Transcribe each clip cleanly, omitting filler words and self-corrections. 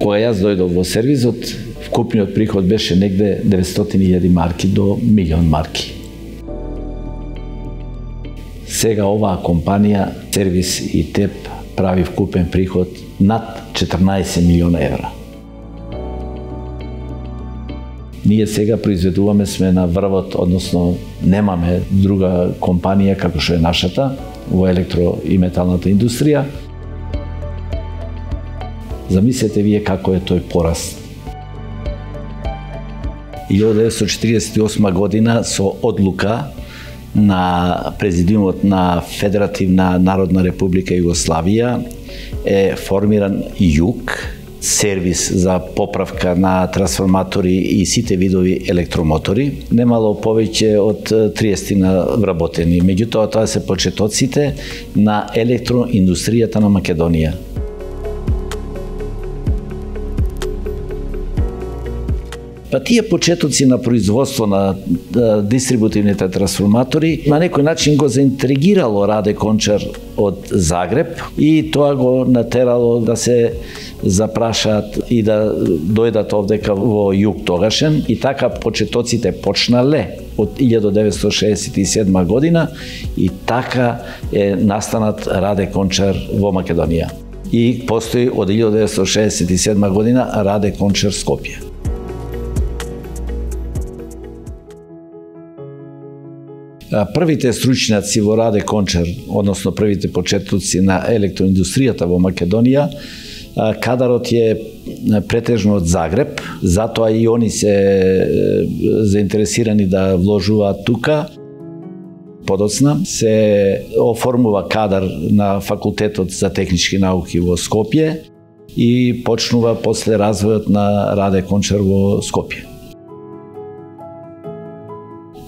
Кога јас дојдов во сервизот, вкупниот приход беше негде 900.000 марки до 1.000.000 марки. Сега оваа компанија, Сервис и ТЕП, прави вкупен приход над 14 милиона евра. Ние сега произведуваме, сме на врвот, односно немаме друга компанија како што е нашата во електро и металната индустрија. Замислете вие како е тој пораст. 1948 година со одлука на Президиумот на Федеративна Народна Република Југославија е формиран ЈУК, сервис за поправка на трансформатори и сите видови електромотори. Немало повеќе од 30 вработени. Меѓутоа, тоа се почетоците на електроиндустријата на Македонија. Па тие почетоци на производство на дистрибутивните трансформатори на некој начин го заинтригирало Раде Кончар од Загреб и тоа го натерало да се запрашаат и да дојдат овдека во ЈУК тогашен, и така почетоците почнале од 1967 година и така е настанат Раде Кончар во Македонија. И постои од 1967 година Раде Кончар Скопје. Првите стручњаци во Раде Кончар, односно првите почетоци на електроиндустријата во Македонија, кадарот е претежно од Загреб, затоа и они се заинтересирани да вложуваат тука. Подоцна се оформува кадар на Факултетот за технички науки во Скопје и почнува после развојот на Раде Кончар во Скопје.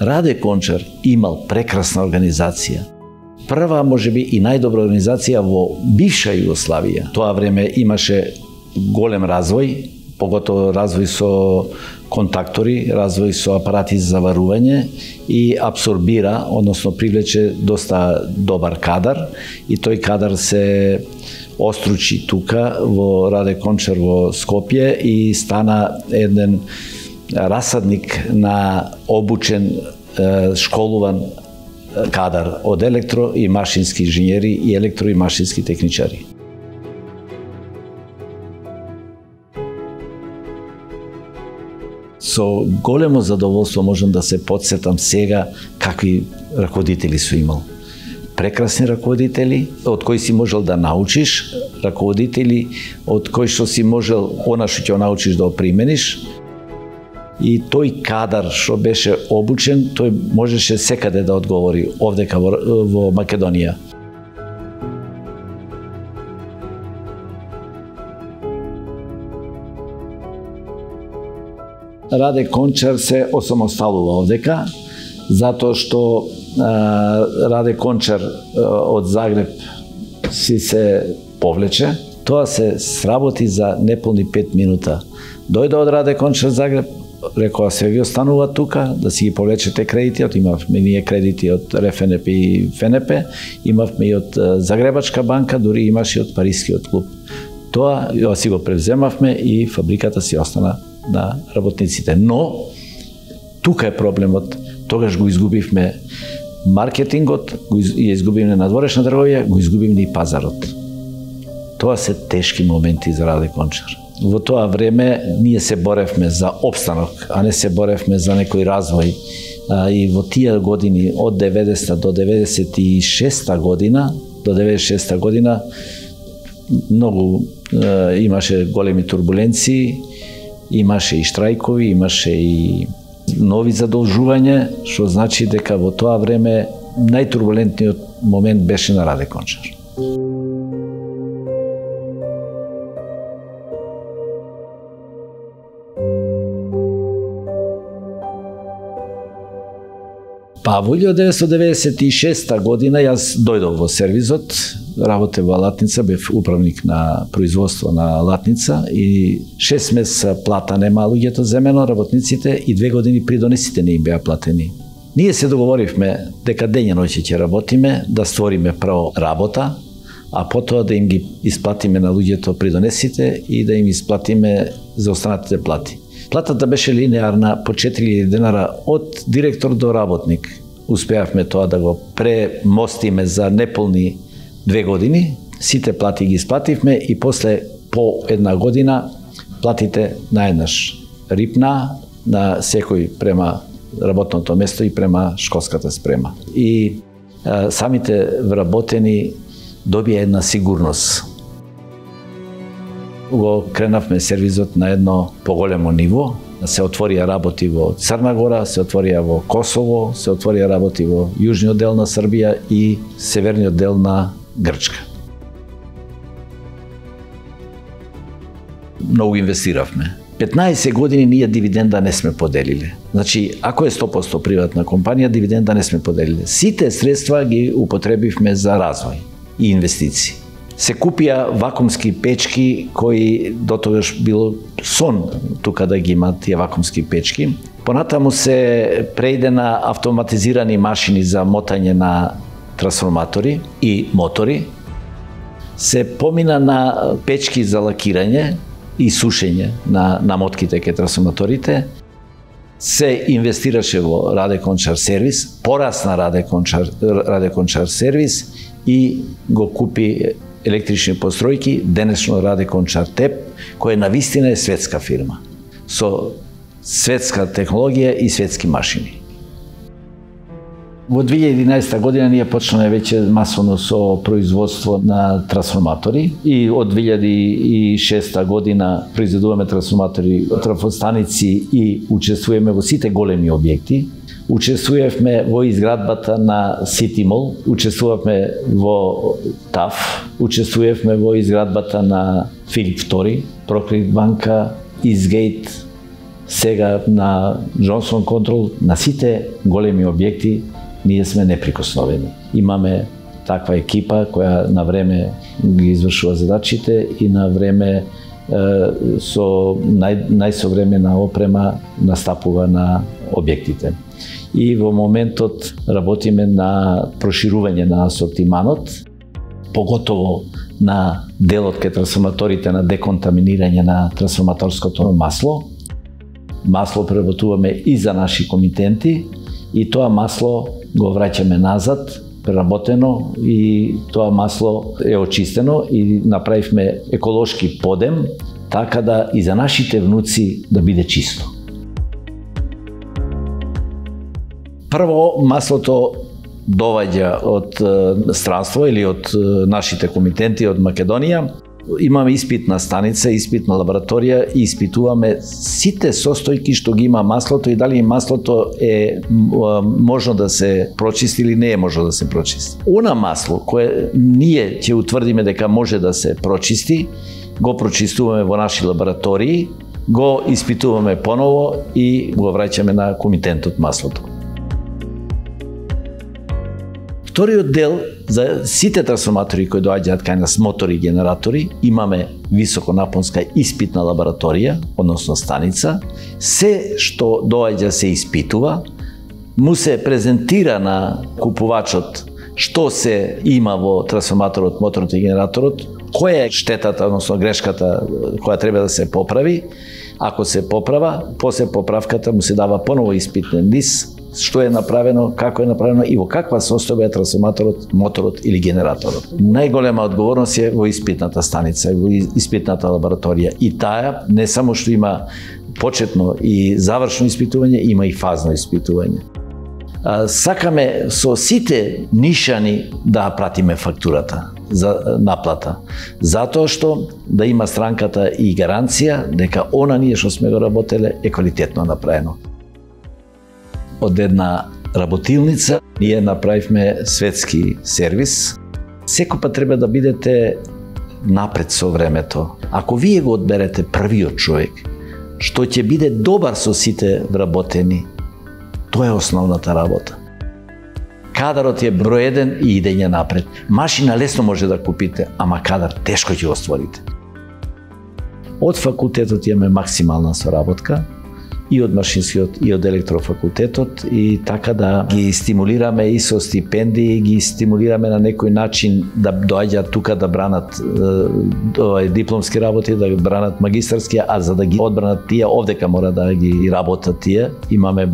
Раде Кончар имал прекрасна организација. Прва, можеби и најдобра организација во бивша Југославија. Тоа време имаше голем развој, поготово развој со контактори, развој со апарати за заварување и абсорбира, односно привлече доста добар кадар и тој кадар се остручи тука во Раде Кончар во Скопје и стана еден расадник на обучен, школуван кадар од електро и машински инженери и електро и машински техничари. Со големо задоволство можам да се потсетам сега какви раководители су имал. Прекрасни раководители, од кои си можел да научиш, раководители од кои што си можел она што ќе научиш да го примениш. И тој кадар што беше обучен, тој можеше секаде да одговори овдека во Македонија. Раде Кончар се осамосталува овдека, затоа што Раде Кончар од Загреб си се повлече. Тоа се сработи за неполни 5 минута. Дојде од Раде Кончар Загреб, рекоа се ви останува тука, да си ги повлечете кредити, имавме ние кредити од РФНП и ФНП, имавме и од Загребачка банка, дури имаше и од Парискиот клуб. Тоа си го превземавме и фабриката си остана на работниците. Но, тука е проблемот, тогаш го изгубивме маркетингот, го изгубивме надворешна трговија, го изгубивме и пазарот. Тоа се тешки моменти за Раде Кончар. Во тоа време ние се боревме за опстанок, а не се боревме за некој развој. И во тие години, од 90 до 96 година, многу имаше големи турбуленции, имаше и штрајкови, имаше и нови задолжувања, што значи дека во тоа време најтурбулентниот момент беше на Раде Кончар. Па во 1996 година јас дојдов во сервизот, работев во Латница, бев управник на производство на Латница и 6 месеца плата нема луѓето земено, работниците, и 2 години придонесите не им беа платени. Ние се договоривме дека дење ноќе ќе работиме, да створиме прво работа, а потоа да им ги исплатиме на луѓето придонесите и да им исплатиме за останатите плати. Платата беше линеарна по 4000 денара од директор до работник. Успеавме тоа да го премостиме за неполни 2 години. Сите плати ги исплативме и после по една година платите наеднаш рипна на секој према работното место и према школската спрема. И самите вработени добија една сигурност. Го кренавме сервизот на едно поголемо ниво. Се отворија работи во Црна Гора, се отворија во Косово, се отворија работи во јужниот дел на Србија и северниот дел на Грчка. Многу инвестиравме. 15 години ние дивиденда не сме поделиле. Значи, ако е 100% приватна компанија, дивиденда не сме поделиле. Сите средства ги употребивме за развој и инвестиции. Се купија вакуумски печки кои дотогаш било сон тука да ги имат тие вакуумски печки. Понатаму се преиде на автоматизирани машини за мотање на трансформатори и мотори. Се помина на печки за лакирање и сушење на намотките ке трансформаторите. Се инвестираше во Раде Кончар сервис, порасна Раде Кончар сервис и го купи електрични постројки, денешно Раде Кончар ТЕП, која навистина е светска фирма, со светска технологија и светски машини. Во 2011 година ние почнаме веќе масовно со производство на трансформатори и од 2006 година произведуваме трансформатори, трафостаници и учествуваме во сите големи објекти. Учествувавме во изградбата на Сити Мол, учествувавме во ТАФ, учествувавме во изградбата на Филип II, Прокредит банка, Изгейт, сега на Джонсон Контрол, на сите големи објекти ние сме неприкосновени. Имаме таква екипа која на време ги извршува задачите и на време со најсовремена опрема настапува на објектите. И во моментот работиме на проширување на асортиманот, поготово на делот ке трансформаторите на деконтаминирање на трансформаторското масло. Масло преработуваме и за наши комитенти и тоа масло го враќаме назад, преработено, и тоа масло е очистено и направивме еколошки подем, така да и за нашите внуци да биде чисто. Прво, маслото доваѓа од странство или од нашите комитенти од Македонија. Имаме испитна станица, испитна лабораторија и испитуваме сите состојки што ги има маслото и дали маслото е можно да се прочисти или не е можно да се прочисти. Она масло кое ние ќе утврдиме дека може да се прочисти, го прочистуваме во наши лаборатории, го испитуваме поново и го враќаме на комитентот маслото. Вториот дел, за сите трансформатори кои доаѓаат кај нас, мотори и генератори, имаме високонапонска испитна лабораторија, односно станица. Се што доаѓа се испитува, му се презентира на купувачот што се има во трансформаторот, моторот и генераторот, која е штетата, односно грешката која треба да се поправи. Ако се поправа, после поправката му се дава поново испитен лист, што е направено, како е направено и во каква состојба е трансформаторот, моторот или генераторот. Најголема одговорност е во испитната станица, во испитната лабораторија. И таа не само што има почетно и завршно испитување, има и фазно испитување. Сакаме со сите нишани да пратиме фактурата за наплата, затоа што да има странката и гаранција дека она ние што сме го работеле е квалитетно направено. Од една работилница ние направивме светски сервис. Секој пат треба да бидете напред со времето. Ако вие го одберете првиот човек, што ќе биде добар со сите вработени, тоа е основната работа. Кадарот е број 1 и идење напред. Машина лесно може да купите, ама кадар тешко ќе го створите. Од факултетот имаме максимална соработка и од машинскиот и од електрофакултетот, и така да ги стимулираме и со стипендии, ги стимулираме на некој начин да доаѓаат тука да бранат дипломски работи, да бранат магистарски, а за да ги одбранат тие, овдека мора да ги работат тие. Имаме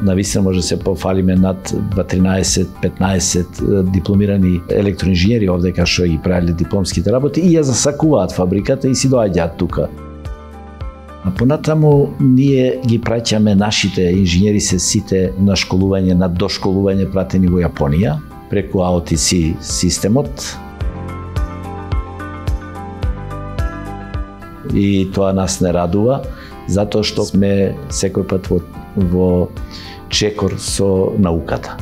навистина може да се пофалиме над 13-15 дипломирани електроинженери овдека што ги правеле дипломските работи и ја засакуваат фабриката и си доаѓаат тука. А понатаму ние ги праќаме нашите инженери се сите на школување, на дошколување пратени во Јапонија преку AOTC системот. И тоа нас не радува, затоа што сме секој пат во чекор со науката.